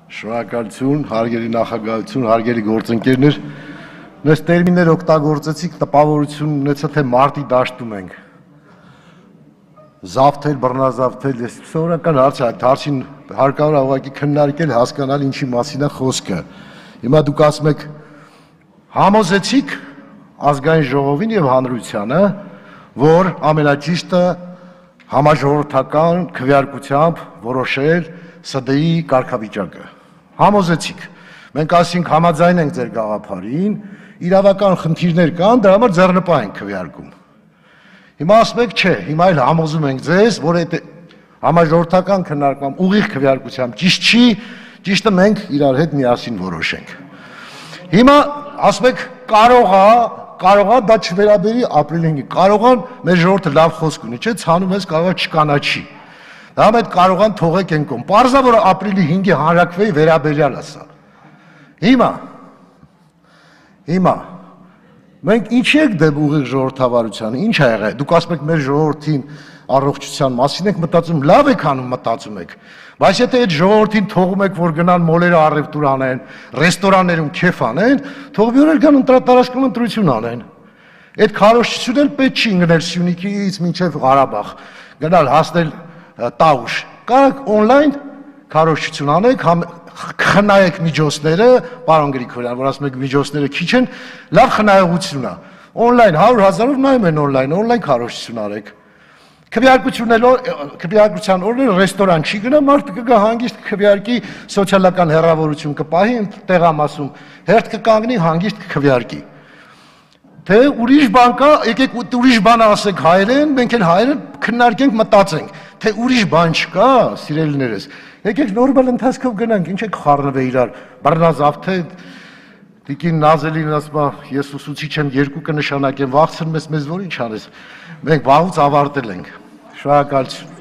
Շնորհակալություն, հարգելի նախագահություն, հարգելի գործընկերներ, նույնիսկ տերմիններ օգտագործեցիք, տպավորություն ունեցա, թե մարտի դաշտում ենք։ Զավթել, բռնազավթել, ես սովորական հարց է, հարցին հարկավոր է ուղղակի քննարկել, հասկանալ ինչի մասին է խոսքը։ Հիմա դուք ասում եք, համոզեցիք ազգային ժողովին եւ հանրությանը, որ ամենաճիշտը համաժողովրդական քվեարկությամբ որոշել ՍԴ-ի կարգավիճակը։ Համոզեցիք։ Մենք ասենք համաձայն ենք ձեր գաղափարին, իրավական խնդիրներ կան, դրա համար ձեռնպահ ենք քվեարկում։ Հիմա ասում եք, չէ, հիմա էլ համոզում ենք ձեզ, որ այդ համաժողովրդական քննարկման ուղիղ քվեարկությամբ ճիշտ չի, ճիշտը մենք իրար հետ միասին որոշենք։ Հիմա ասում եք, կարող է դա չվերաբերի ապրիլի 5-ին, կարող է մեր ժողովուրդը լավ խոսք ունի, չէ, ցանում ես կարող է չկանաչի։ Դա մեծ կարողան թողեք են կողմ։ Պարզա որ ապրիլի 5-ի հանրաքվեի վերաբերյալ է սա։ Հիմա մենք ինչի եք դեմ ուղիղ ժողովրդավարությանը, ինչ ա եղել։ Դուք ասում եք մեր ժողովրդին առողջության մասին եք մտածում, լավ եք անում մտածում եք։ Բայց եթե այդ ժողովրդին թողում եք, որ գնան մոլերը առևտուր անեն, ռեստորաններում քեֆ անեն, թող մի օր գան տարածքում ընտրություն անեն։ Այդ քարոզչությունն էլ պետք չի ընկնել Սյունիքից մինչև Ղարաբաղ, գնալ հասնել Տաուշ, կարաք օնլայն քարոզչություն անեք, խնայեք միջոցները, պարոն Գրիգորյան, որ ասում եք միջոցները քիչ են, լավ խնայողություն է։ Օնլայն 100,000-ով նայում են օնլայն քարոզչություն արեք։ Քվեարկության օրերին ռեստորան չի գնա, մարդը կգա հանգիստ քվեարկի, սոցիալական հեռավորություն կպահի տեղամասում, հերթ կկանգնի հանգիստ քվեարկի։ Թե ուրիշ բան կա, եկեք ուրիշ բան ասեք հայերեն, մենք էլ հայերեն քննարկենք, մտածենք, թե ուրիշ բան չկա, սիրելիներս։ Եկեք նորմալ ընթացքով գնանք, ինչ եք խառնվել իրար, բռնազավթե, տիկին Նազելին ասում է, ես ուսուցիչ եմ, 2 կնշանակեմ, վախցնում ես մեզ, որ ինչ անես։ Մենք վաղուց ավարտել ենք։ Շնորհակալություն։